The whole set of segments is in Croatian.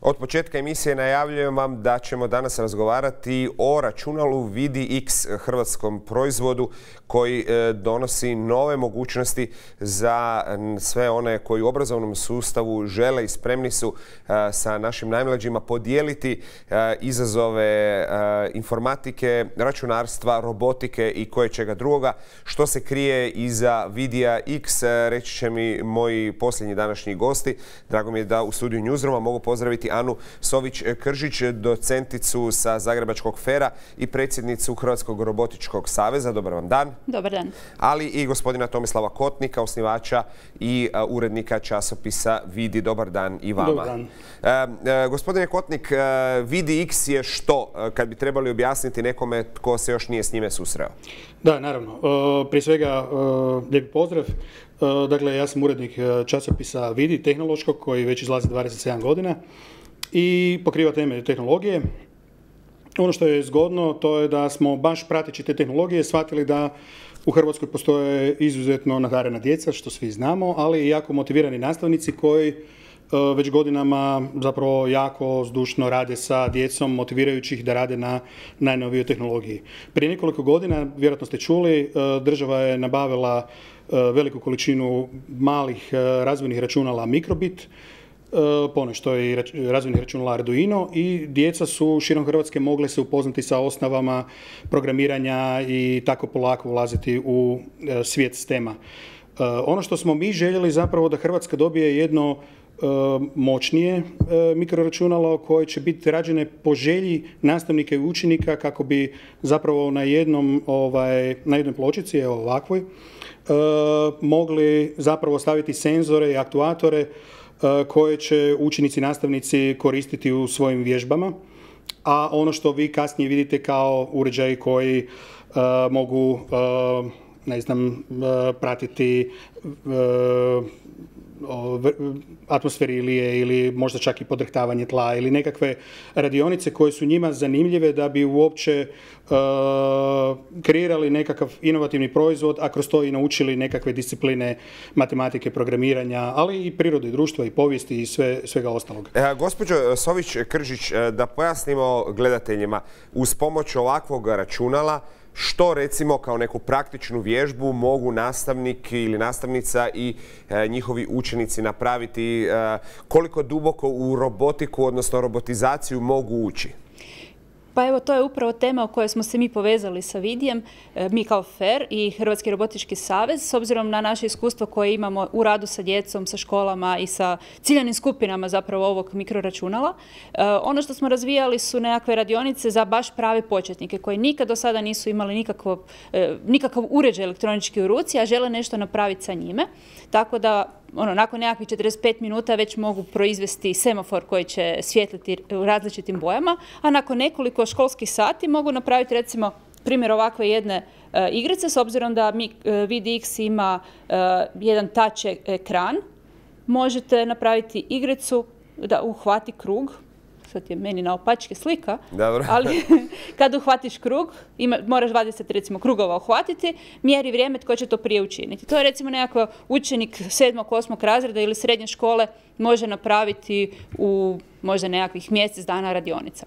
Od početka emisije najavljujem vam da ćemo danas razgovarati o računalu VidiX, hrvatskom proizvodu koji donosi nove mogućnosti za sve one koji u obrazovnom sustavu žele i spremni su sa našim najmlađima podijeliti izazove informatike, računarstva, robotike i koječega drugoga. Što se krije iza Vidija X, reći će mi moji posljednji današnji gosti. Drago mi je da u studiju Newsrooma mogu pozdraviti Anu Sović-Kržić, docenticu sa Zagrebačkog FER-a i predsjednicu Hrvatskog robotičkog saveza. Dobar vam dan. Dobar dan. Ali i gospodina Tomislava Kotnika, osnivača i urednika časopisa Vidi. Dobar dan i vama. Dobar dan. Gospodine Kotnik, VidiX je što, kad bi trebali objasniti nekome tko se još nije s njime susreo? Da, naravno. Prije svega, lijepi pozdrav. Dakle, ja sam urednik časopisa Vidi, tehnološkog, koji već izlazi 27 godina i pokriva teme tehnologije. Ono što je zgodno, to je da smo baš prateći te tehnologije shvatili da u Hrvatskoj postoje izuzetno nadarena djeca, što svi znamo, ali i jako motivirani nastavnici koji već godinama zapravo jako zdušno rade sa djecom, motivirajući ih da rade na najnovijoj tehnologiji. Prije nekoliko godina, vjerojatno ste čuli, država je nabavila veliku količinu malih razvojnih računala Microbit, ponešto i razvojnih računala Arduino, i djeca su širom Hrvatske mogle se upoznati sa osnovama programiranja i tako polako ulaziti u svijet STEM-a. Ono što smo mi željeli zapravo da Hrvatska dobije jedno moćnije mikroračunalo koje će biti rađene po želji nastavnika i učenika kako bi zapravo na jednoj pločici, evo ovakvoj, mogli zapravo staviti senzore i aktuatore koje će učenici i nastavnici koristiti u svojim vježbama, a ono što vi kasnije vidite kao uređaji koji mogu pratiti atmosferi ili možda čak i podrhtavanje tla ili nekakve radionice koje su njima zanimljive da bi uopće kreirali nekakav inovativni proizvod, a kroz to i naučili nekakve discipline matematike, programiranja, ali i prirode i društva i povijesti i svega ostalog. Gospođo Sović-Kržić, da pojasnimo gledateljima, uz pomoć ovakvog računala što recimo kao neku praktičnu vježbu mogu nastavnik ili nastavnica i njihovi učenici napraviti, koliko duboko u robotiku, odnosno robotizaciju mogu ući? Pa evo, to je upravo tema o kojoj smo se mi povezali sa Vidijem, mi kao FER i Hrvatski robotički savez, s obzirom na naše iskustvo koje imamo u radu sa djecom, sa školama i sa ciljanim skupinama zapravo ovog mikroračunala. Ono što smo razvijali su nekakve radionice za baš prave početnike koji nikad do sada nisu imali nikakav uređaj elektronički u ruci, a žele nešto napraviti sa njime. Tako da nakon nekakvih 45 minuta već mogu proizvesti semafor koji će svijetliti u različitim bojama, a nakon nekoliko školskih sati mogu napraviti recimo primjer ovakve jedne igrice, s obzirom da VidiX ima jedan touch ekran. Možete napraviti igricu da uhvati krug. Sad je meni naopačke slika, ali kad uhvatiš krug, moraš 20 recimo krugova uhvatiti, mjeri vrijeme tko će to prije učiniti. To je recimo nekakav učenik 7. 8. razreda ili srednje škole može napraviti u možda nekakvih mjesec dana radionica.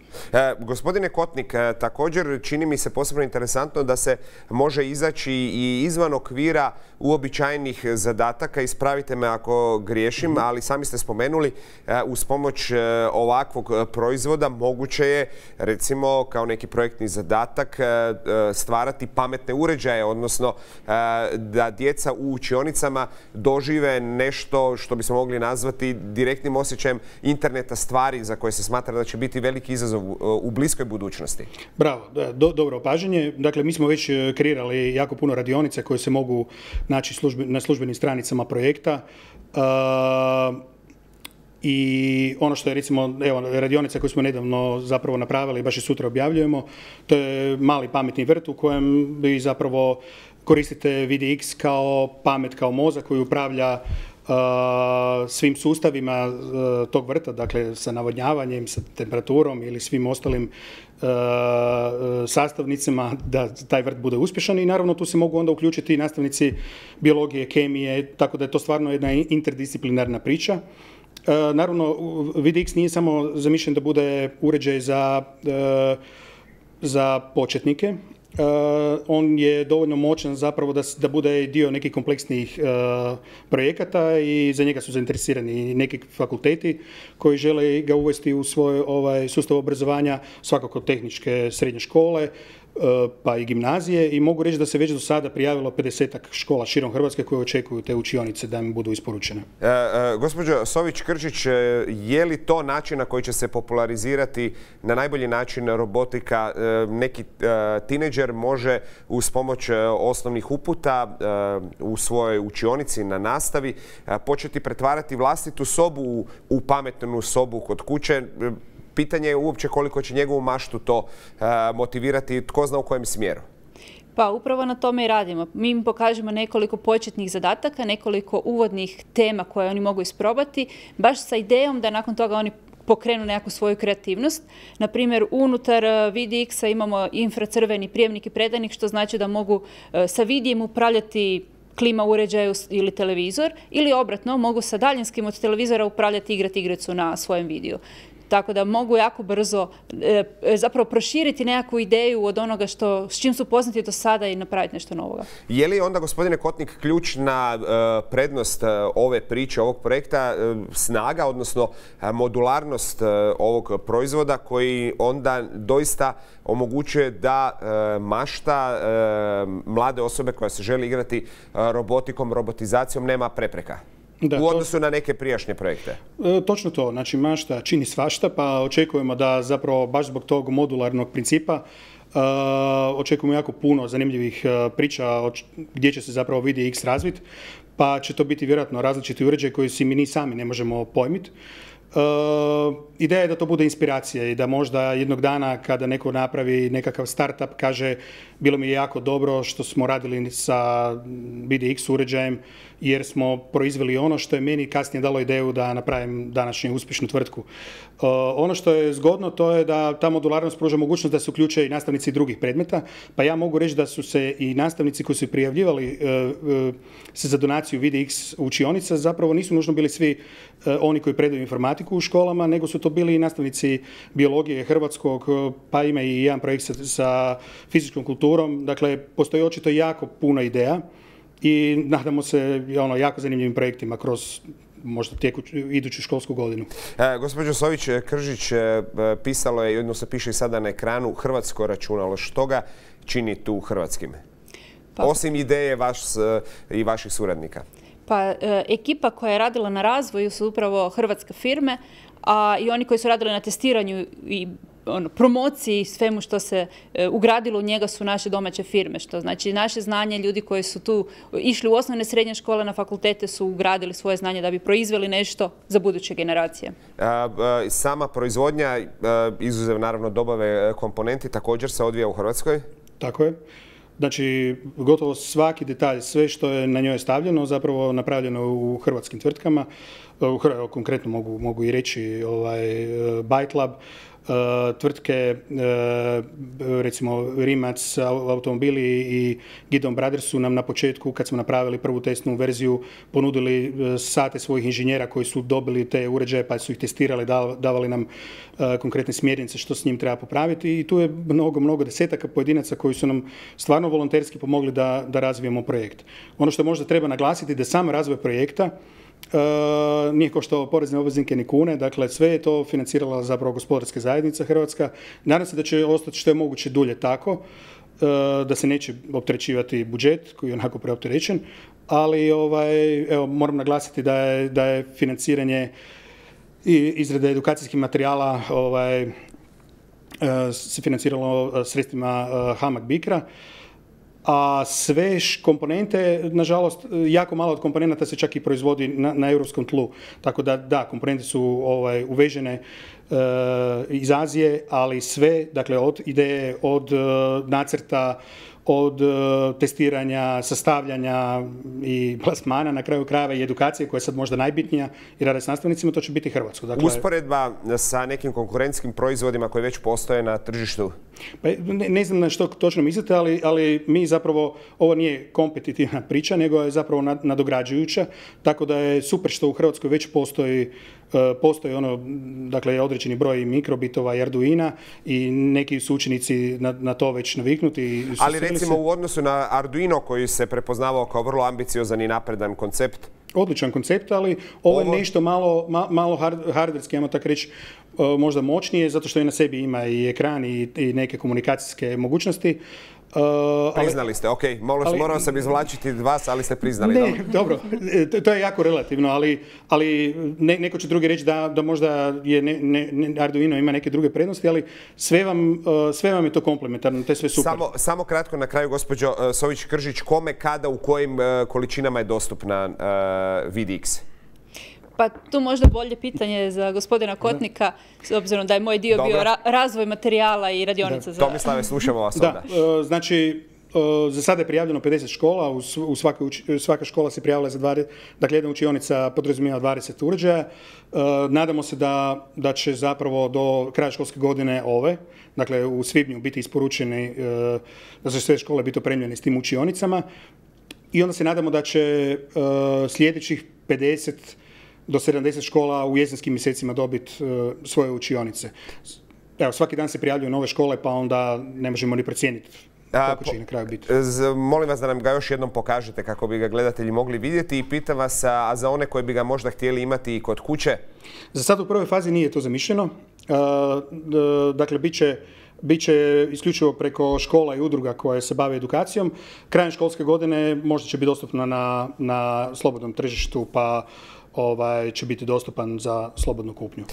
Gospodine Kotnik, također čini mi se posebno interesantno da se može izaći i izvan okvira uobičajenih zadataka. Ispravite me ako griješim, ali sami ste spomenuli uz pomoć ovakvog proizvoda moguće je recimo kao neki projektni zadatak stvarati pametne uređaje, odnosno da djeca u učionicama dožive nešto što bismo mogli nazvati direktnim osjećajem interneta stvari za koje se smatra da će biti veliki izazov u bliskoj budućnosti. Bravo, dobro opažanje. Dakle, mi smo već kreirali jako puno radionica koje se mogu naći na službenim stranicama projekta. I ono što je recimo, evo, radionica koju smo nedavno zapravo napravili, baš i sutra objavljujemo, to je mali pametni vrt u kojem vi zapravo koristite VidiX kao pamet, kao mozak koji upravlja svim sustavima tog vrta, dakle sa navodnjavanjem, sa temperaturom ili svim ostalim sastavnicama da taj vrt bude uspješan, i naravno tu se mogu onda uključiti i nastavnici biologije, kemije, tako da je to stvarno jedna interdisciplinarna priča. Naravno, VidiX nije samo zamišljen da bude uređaj za početnike. On je dovoljno moćan zapravo da bude dio nekih kompleksnijih projekata i za njega su zainteresirani neki fakulteti koji žele ga uvesti u svoj sustav obrazovanja, svakako tehničke srednje škole, pa i gimnazije, i mogu reći da se već do sada prijavilo 50-ak škola širom Hrvatske koje očekuju te učionice da im budu isporučene. Gospođo Sović-Kržić, je li to način na koji će se popularizirati na najbolji način robotika? Neki tineđer može uz pomoć osnovnih uputa u svojoj učionici na nastavi početi pretvarati vlastitu sobu u pametnu sobu kod kuće. Pitanje je uopće koliko će njegovu maštu to motivirati, tko zna u kojem smjeru. Pa upravo na tome i radimo. Mi im pokažemo nekoliko početnih zadataka, nekoliko uvodnih tema koje oni mogu isprobati, baš sa idejom da nakon toga oni pokrenu nekakvu svoju kreativnost. Na primjer, unutar VidiX-a imamo infracrveni prijemnik i predajnik, što znači da mogu sa vidijem upravljati klima uređaju ili televizor, ili obratno, mogu sa daljinskim od televizora upravljati i igrati igricu na svojem vidiju. Tako da mogu jako brzo zapravo proširiti nekakvu ideju od onoga s čim su poznati do sada i napraviti nešto novoga. Je li onda, gospodine Kotnik, ključna prednost ove priče, ovog projekta, snaga, odnosno modularnost ovog proizvoda koji onda doista omogućuje da mašta mlade osobe koja se želi igrati robotikom, robotizacijom nema prepreka? U odnosu na neke prijašnje projekte. Točno to. Znači, mašta čini svašta, pa očekujemo da zapravo baš zbog tog modularnog principa očekujemo jako puno zanimljivih priča gdje će se zapravo VidiX razviti, pa će to biti vjerojatno različiti uređaj koji si mi ni sami ne možemo pojmiti. Ideja je da to bude inspiracija i da možda jednog dana kada neko napravi nekakav startup kaže bilo mi je jako dobro što smo radili sa VidiX uređajem jer smo proizveli ono što je meni kasnije dalo ideju da napravim današnju uspješnu tvrtku. Ono što je zgodno to je da ta modularnost pruža mogućnost da se uključe i nastavnici drugih predmeta, pa ja mogu reći da su se i nastavnici koji su prijavljivali se za donaciju VidiX učionica zapravo nisu nužno bili svi oni koji predaju informatiku u školama, nego su to bili i nastavnici biologije hrvatskog, pa ima i jedan projekt sa fizičkom kulturom. Dakle, postoji očito jako puno ideja i nadamo se jako zanimljivim projektima kroz možda iduću školsku godinu. Gospođo Sović-Kržić, pisalo je, odnosno piše i sada na ekranu, hrvatsko računalo. Što ga čini tu hrvatskim? Osim ideje i vaših suradnika. Pa ekipa koja je radila na razvoju su upravo hrvatske firme, a i oni koji su radili na testiranju i promociji i svemu što se ugradilo u njega su naše domaće firme. Što znači naše znanje, ljudi koji su tu išli u osnovne srednje škole, na fakultete su ugradili svoje znanje da bi proizveli nešto za buduće generacije. Sama proizvodnja, izuzev naravno dobave komponenti, također se odvija u Hrvatskoj? Tako je. Znači, gotovo svaki detalj, sve što je na njoj stavljeno, zapravo napravljeno u hrvatskim tvrtkama. Konkretno mogu i reći Byte Lab, tvrtke, recimo Rimac automobili i Gideon Brothers su nam na početku, kad smo napravili prvu testnu verziju, ponudili sate svojih inženjera koji su dobili te uređaje pa su ih testirali, davali nam konkretne smjernice što s njim treba popraviti i tu je mnogo desetaka pojedinaca koji su nam stvarno volonterski pomogli da razvijemo projekt. Ono što možda treba naglasiti da sam razvoj projekta nije koštao porezne obveznike ni kune, dakle sve je to financirala zapravo gospodarska zajednica Hrvatska. Nadam se da će ostati što je moguće dulje tako, da se neće opterećivati budžet koji je onako preopterećen, ali evo, moram naglasiti da je financiranje i izrade edukacijskih materijala se financiralo sredstvima HAMAG BICRA. A sve komponente, nažalost, jako malo od komponenata se čak i proizvodi na europskom tlu. Tako da, komponente su uvežene iz Azije, ali sve, dakle, od ideje, od nacrta, od testiranja, sastavljanja i plasmana, na kraju krajeva i edukacije koja je sad možda najbitnija i rade s nastavnicima, to će biti hrvatsko. Dakle, usporedba sa nekim konkurentskim proizvodima koji već postoje na tržištu? Pa, ne znam na što točno mislite, ali mi zapravo, ovo nije kompetitivna priča, nego je zapravo nadograđujuća, tako da je super što u Hrvatskoj već postoji postoji dakle, određeni broj mikrobitova i Arduina i neki su učenici na to već naviknuti. Ali recimo u odnosu na Arduino koji se prepoznavao kao vrlo ambiciozan i napredan koncept? Odličan koncept, ali ovo je nešto malo hardverski, ajmo tako reći, možda moćnije, zato što i na sebi ima i ekran i neke komunikacijske mogućnosti. Priznali ste, ok. Morao sam izvlačiti vas, ali ste priznali. Ne, dobro, to je jako relativno, ali neko će drugi reći da možda Arduino ima neke druge prednosti, ali sve vam je to komplementarno, to je sve super. Samo kratko na kraju, gospođo Sović-Kržić, kome, kada, u kojim količinama je dostupna VidiX? Pa tu možda bolje pitanje za gospodina Kotnika, s obzirom da je moj dio bio razvoj materijala i radionica za... Tomislave, slušamo vas onda. Znači, za sada je prijavljeno 50 škola, svaka škola se prijavila za 20, dakle jedna učionica podrazumijeva 20 uređaja. Nadamo se da će zapravo do kraja školske godine dakle u svibnju biti isporučeni, da će sve škole biti opremljene s tim učionicama i onda se nadamo da će sljedećih 50 do 70 škola u jesenskim mjesecima dobiti svoje učionice. Evo, svaki dan se prijavljuju nove škole, pa onda ne možemo ni procijeniti koliko će na kraju biti. Molim vas da nam ga još jednom pokažete kako bi ga gledatelji mogli vidjeti i pitam vas, a za one koji bi ga možda htjeli imati i kod kuće? Za sad u prvoj fazi nije to zamišljeno. Dakle, bit će isključivo preko škola i udruga koje se bave edukacijom. Krajem školske godine možda će biti dostupno na slobodnom tržištu, pa će biti dostupan za slobodnu kupnju.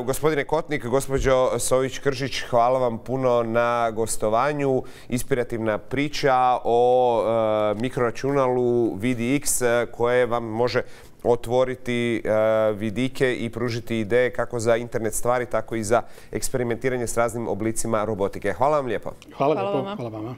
Gospodine Kotnik, gospođo Sović-Kržić, hvala vam puno na gostovanju. Inspirativna priča o mikroračunalu VidiX koje vam može otvoriti vidike i pružiti ideje kako za internet stvari, tako i za eksperimentiranje s raznim oblicima robotike. Hvala vam lijepo. Hvala vama.